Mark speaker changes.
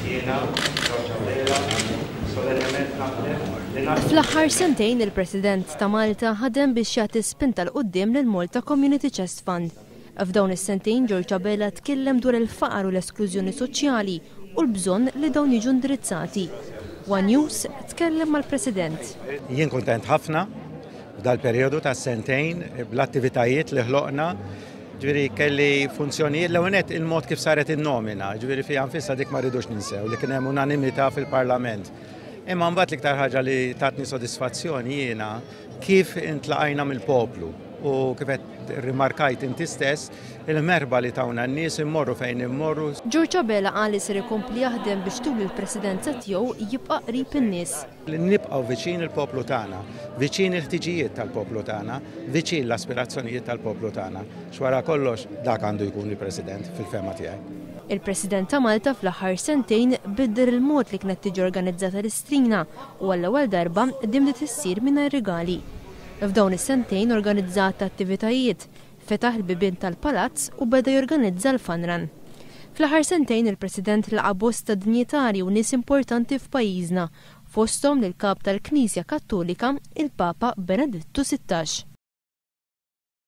Speaker 1: Jiena, George Abela, solennement naħlef li naqdi.
Speaker 2: Fl-aħħar sentejn il-President ta' Malta ħadem biex jagħti spinta 'l quddiem lill-Malta Community Chest Fund. F'dawn is-sentejn George Abela tkellem dwar il-faqar u l-esklużjoni soċjali u l-bżonn li dawn jiġu indirizzati. One News tkellem mal-President.
Speaker 3: Jien kuntent ħafna f'dal-perjodu ta' sentejn bl-attivitajiet li ħloqna. Ġifieri kelli funzjonijiet l-ewwel nett il-mod kif saret in-nomina, ġifieri fiha nfisha dik ma rridux ninsew li kien hemm unanimità fil-Parlament. Imma mbagħad l-iktar ħaġa li tatni sodisfazzjoni jiena kif intlaqajna mill-poplu u kif qed rimarkajt inti stess il-merħba li tawna n-nies immorru fejn immorru.
Speaker 2: George Abela qal li ser ikompli jaħdem biex tul il-presidenza tiegħu jibqa' qrib in-nies.
Speaker 3: Li nibqgħu viċin il-poplu tagħna, viċin il-ħtiġijiet tal-poplu tagħna, viċin l-aspirazzjonijiet tal-poplu tagħna. X'wara kollox dak għandu jkun il-President fil-fehma tiegħi.
Speaker 2: Il-President ta' Malta fl-aħħar sentejn biddel il-mod li kienet tiġi organizzata l-Istrina u għall-ewwel darba din bdiet issir mingħajr rigali. F'dawn is-sentejn organizza għadd ta' attivitajiet, fetaħ il-bibien tal-Palazz u beda jorganizza l-Fun Run. Fl-aħħar sentejn il-President laqa' bosta dinjitarji u nies importanti f'pajjiżna, fosthom lill-Kap tal-Knisja Kattolika, il-Papa Benedittu 16.